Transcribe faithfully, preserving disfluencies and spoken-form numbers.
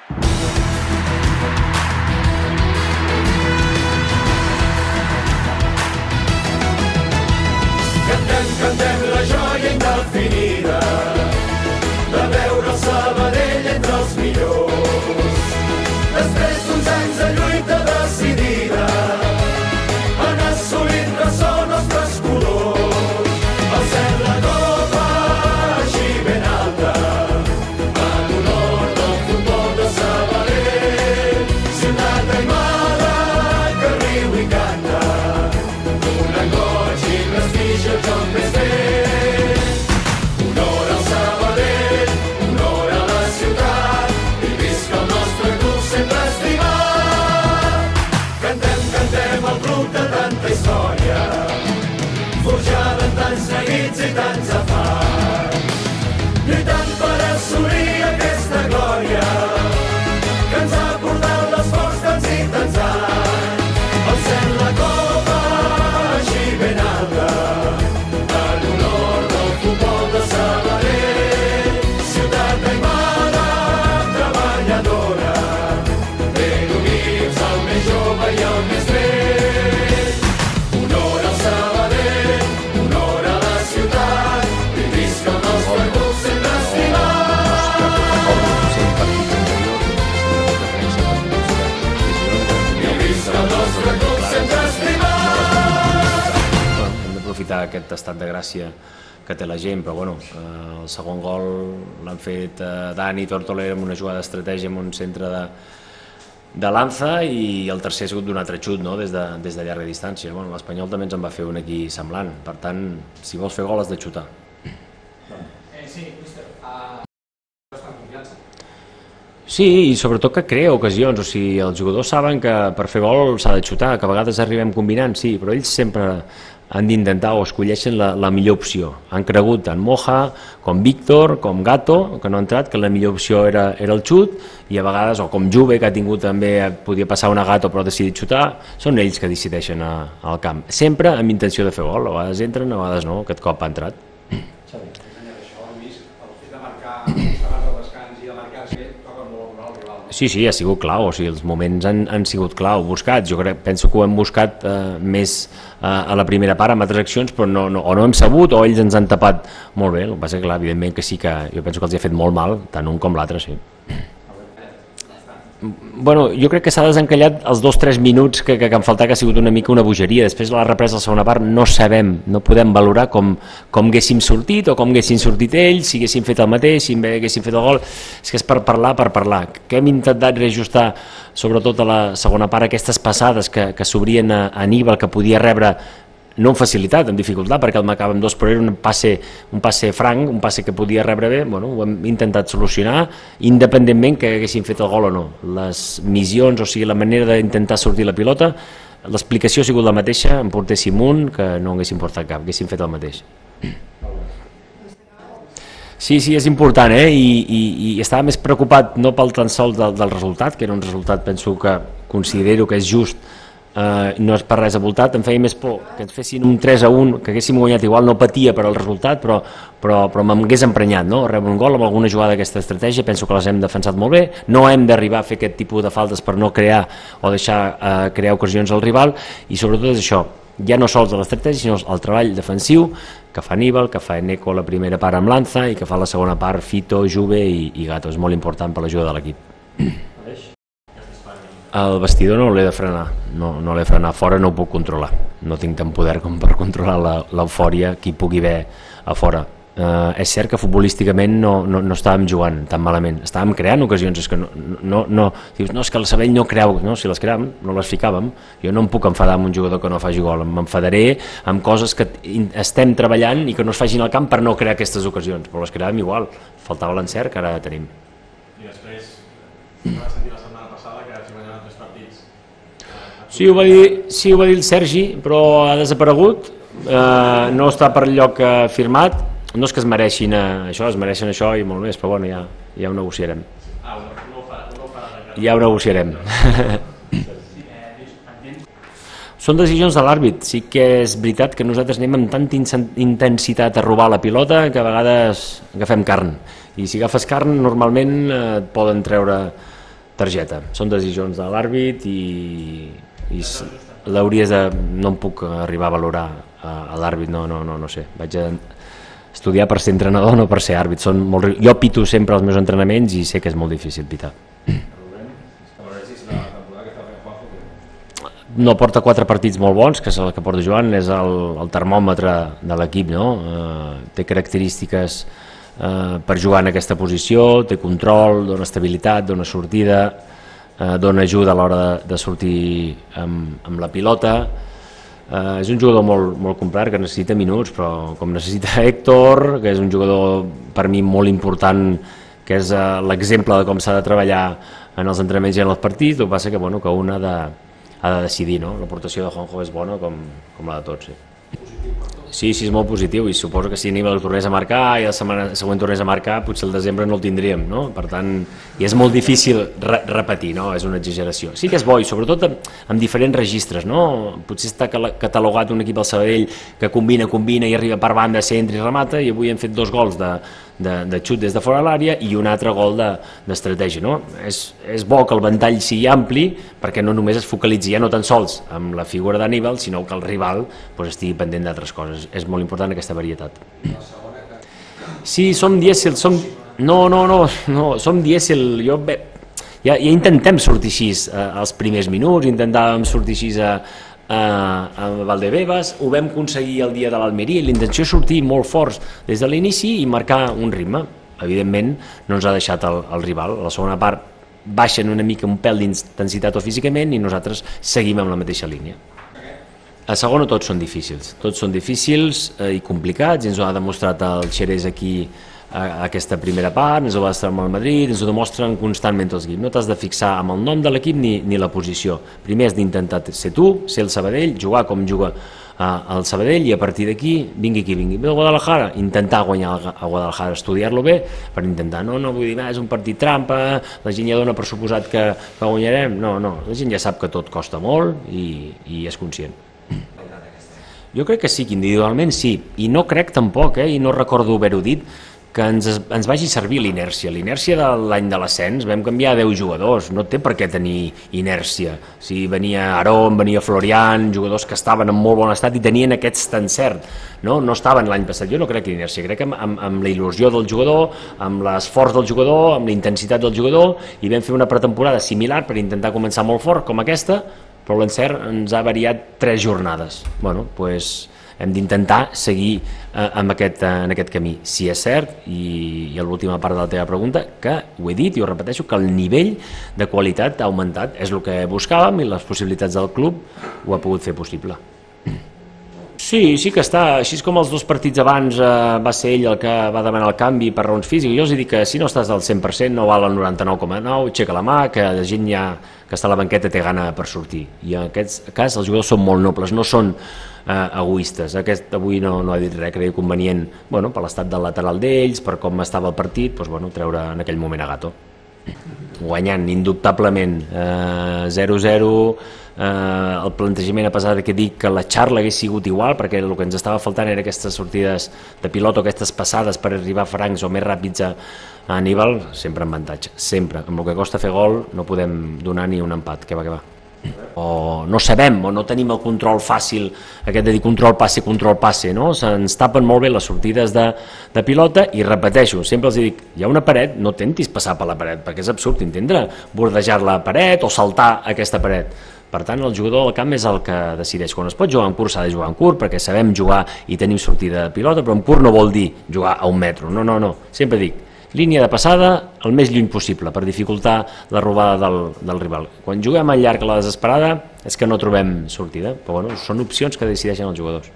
Cantem, cantem la joia indefinida de veure el Sabadell entre els millors. Després d'uns anys de lluita decidida han assolit ressò nostres colors. Al cel la copa així ben alta en honor del futbol de Sabadell. Ciutat aimada que riu i canta, una goig i prestigi el joc més vell. Honor al Sabadell, honor a la ciutat, i visca el nostre club sempre estimat. Cantem, cantem el club de tanta història, forjada en tants neguits i tants afans, lluitant per assolir aquesta glòria que ens ha portat l'esforç tants i tants anys. Al cel la copa així ben alta en honor del futbol de Sabadell. Ciutat aimada, treballadora, ben units el més jove i el més vell. Honor al Sabadell, honor a la ciutat, i visca el nostre club sempre estimat. I visca el nostre club sempre estimat. Hem d'aprofitar aquest estat de gràcia que té la gent, però bueno, el segon gol l'han fet Dani Tortoler amb una jugada d'estratègia en un centre de, de Lanza, i el tercer ha sigut d'un altre xut, no? des, de, des de llarga distància. Bueno, l'Espanyol també ens en va fer un aquí semblant, per tant, si vols fer gol has de xutar. Sí, i sobretot que crea ocasions, o sigui, els jugadors saben que per fer gol s'ha de xutar, que a vegades arribem combinant, sí, però ells sempre han d'intentar o escolleixen la, la millor opció. Han cregut tant Moja, com Víctor, com Gato, que no ha entrat, que la millor opció era, era el xut, i a vegades, o com Juve, que ha tingut també, podia passar una Gato però ha decidit xutar, són ells que decideixen a, al camp. Sempre amb intenció de fer gol, a vegades entren, a vegades no, aquest cop ha entrat. Sí, sí, ha sigut clau, o sigui, els moments han, han sigut clau, buscats. Jo crec, penso que ho hem buscat eh, més eh, a la primera part amb altres accions, però no, no, o no hem sabut o ells ens han tapat molt bé. El que passa que, clar, evidentment que sí que jo penso que els ha fet molt mal, tant un com l'altre, sí. Bueno, jo crec que s'ha desencallat els dos o tres minuts que, que, que em faltava, que ha sigut una mica una bogeria. Després de la represa de la segona part no sabem, no podem valorar com, com haguéssim sortit o com haguessin sortit ells, si haguéssim fet el mateix, si haguéssim fet el gol. És que és per parlar, per parlar. Que hem intentat reajustar, sobretot a la segona part, aquestes passades que, que s'obrien a Aníbal, que podia rebre no amb facilitat, amb dificultat, perquè el marcàvem dos, però era un passe, un passe franc, un passe que podia rebre bé. Bueno, ho hem intentat solucionar, independentment que haguessin fet el gol o no. Les missions, o sigui, la manera d'intentar sortir la pilota, l'explicació ha sigut la mateixa, en portéssim un, que no haguéssim portat cap, haguéssim fet el mateix. Sí, sí, és important, eh? I, i, i estava més preocupat no pel tan sols del, del resultat, que era un resultat, penso que considero que és just, Uh, no és per res avoltat. Em feia més por que ens fessin un tres a un, que haguéssim guanyat, igual no patia per al resultat, però, però, però m'hagués emprenyat, no? Rebre un gol amb alguna jugada d'aquesta estratègia, penso que les hem defensat molt bé. No hem d'arribar a fer aquest tipus de faltes per no crear o deixar uh, crear ocasions al rival, i sobretot és això, ja no sols de l'estratègia, sinó el treball defensiu que fa Aníbal, que fa Eneco la primera part amb Lanza i que fa la segona part Fito, Juve i, i Gato. És molt important per l'ajuda de l'equip. El vestidor no l'he de frenar, no, no l'he de frenar, fora no ho puc controlar, no tinc tant poder com per controlar l'eufòria que hi pugui haver a fora. Uh, és cert que futbolísticament no, no, no estàvem jugant tan malament, estàvem creant ocasions, és que no, no, no, dius, no, és que el Sabadell no creu, no, si les creàvem no les ficàvem. Jo no em puc enfadar amb un jugador que no faci gol, m'enfadaré amb coses que estem treballant i que no es facin al camp per no crear aquestes ocasions, però les creàvem igual, faltava l'encert que ara tenim. I després, no vas sentir la setmana passada que s'hi guanyaven tres partits? Sí, ho va dir, sí, ho va dir el Sergi, però ha desaparegut, eh, no està per lloc eh, firmat. No és que es mereixin eh, això, es mereixen això i molt més, però bueno, ja, ja ho negociarem. Ah, no ho farà, no ho farà. Ja ho negociarem. Són decisions de l'àrbit. Sí que és veritat que nosaltres anem amb tanta intensitat a robar la pilota que a vegades agafem carn. I si agafes carn, normalment eh, et poden treure targeta. Són decisions de l'àrbit i, i l'hauries de... no em puc arribar a valorar a, a l'àrbit, no, no, no, no sé. Vaig a estudiar per ser entrenador, no per ser àrbit. Són molt... Jo pito sempre els meus entrenaments i sé que és molt difícil pitar. No porta quatre partits molt bons, que és el que porta Joan, és el, el termòmetre de l'equip, no? Eh, té característiques eh, per jugar en aquesta posició, té control, dona estabilitat, dona sortida, eh, dona ajuda a l'hora de, de sortir amb, amb la pilota. Eh, és un jugador molt, molt complet, que necessita minuts, però com necessita Héctor, que és un jugador per mi molt important, que és eh, l'exemple de com s'ha de treballar en els entrenaments i en els partits, el que passa que, bueno, que un ha de, ha de decidir, no? L'aportació de Juanjo és bona com, com la de tots. Sí. Sí, sí, és molt positiu, i suposo que si Aníbal tornés a marcar i la setmana següent tornés a marcar, potser el desembre no el tindríem, no? Per tant, i és molt difícil re repetir, no? És una exageració. Sí que és bo, i sobretot amb, amb diferents registres, no? Potser està catalogat un equip al Sabadell que combina, combina i arriba per banda, centre i remata, i avui hem fet dos gols de, de, de xut des de fora de l'àrea i un altre gol d'estratègia, no? És, és bo que el ventall sigui ampli, perquè no només es focalitzi ja no tan sols amb la figura d'Aníbal, sinó que el rival pues, estigui pendent d'altres coses. És molt important aquesta varietat. Sí, som dièsel, som... No, no, no, no, som dièsel, jo... Bé, ja, ja intentem sortir així eh, els primers minuts, intentàvem sortir així a, a, a Valdebebas, ho vam aconseguir el dia de l'Almeria, i l'intenció és sortir molt forts des de l'inici i marcar un ritme. Evidentment no ens ha deixat el, el rival, a la segona part baixen una mica un pèl d'intensitat o físicament i nosaltres seguim amb la mateixa línia. A segona tots són difícils, tots són difícils eh, i complicats, i ens ho ha demostrat el Xerès aquí a, a aquesta primera part, ens ho va estar amb el Madrid, ens ho demostren constantment tots els equips. No t'has de fixar amb el nom de l'equip ni, ni la posició. Primer has d'intentar ser tu, ser el Sabadell, jugar com juga eh, el Sabadell, i a partir d'aquí, vingui qui vingui. Ve el Guadalajara, intentar guanyar a Guadalajara, estudiar-lo bé, per intentar, no, no, vull dir, és un partit trampa, la gent ja dona per suposat que, que guanyarem, no, no, la gent ja sap que tot costa molt i, i és conscient. Jo crec que sí, que individualment sí, i no crec tampoc, eh, i no recordo haver-ho dit, que ens, ens vagi servir l'inèrcia. L'inèrcia de l'any de l'ascens, vam canviar deu jugadors, no té per què tenir inèrcia. Si venia Aarón, venia Florian, jugadors que estaven en molt bon estat i tenien aquest encert, no, no estaven l'any passat. Jo no crec que inèrcia, crec que amb, amb, amb la il·lusió del jugador, amb l'esforç del jugador, amb la intensitat del jugador, i vam fer una pretemporada similar per intentar començar molt fort com aquesta, però l'encert ens ha variat tres jornades. Bueno, doncs hem d'intentar seguir eh, amb aquest, eh, en aquest camí. Si és cert, i, i a l'última part de la teva pregunta, que ho he dit i ho repeteixo, que el nivell de qualitat ha augmentat, és el que buscàvem i les possibilitats del club ho ha pogut fer possible. Sí, sí que està, així com els dos partits abans eh, va ser ell el que va demanar el canvi per raons físiques. Jo els dic que si no estàs al cent per cent no val el noranta-nou coma nou, aixeca la mà, que la gent ja que està a la banqueta té gana per sortir. I en aquest cas els jugadors són molt nobles, no són eh, egoistes. Aquest avui no, no ha dit res, creia convenient, bueno, per l'estat del lateral d'ells, per com estava el partit, doncs, bueno, treure en aquell moment a Gato. Guanyant indubtablement eh, zero zero, eh, el plantejament, a pesar que dic que la xarla hagués sigut igual, perquè el que ens estava faltant era aquestes sortides de pilot o aquestes passades per arribar francs o més ràpids a, a Aníbal, sempre en avantatge, sempre. Amb el que costa fer gol no podem donar ni un empat, que va, que va. O no sabem, o no tenim el control fàcil, aquest de dir control passe, control passe, no? Se'ns tapen molt bé les sortides de, de pilota, i repeteixo, sempre els dic, hi ha una paret, no tentis passar per la paret, perquè és absurd entendre bordejar la paret o saltar aquesta paret. Per tant, el jugador del camp és el que decideix. Quan es pot jugar en curt, s'ha de jugar en curt, perquè sabem jugar i tenim sortida de pilota, però en curt no vol dir jugar a un metro, no, no, no, sempre dic, línia de passada el més lluny possible per dificultar la robada del, del rival. Quan juguem al llarg a la desesperada és que no trobem sortida, però bueno, són opcions que decideixen els jugadors.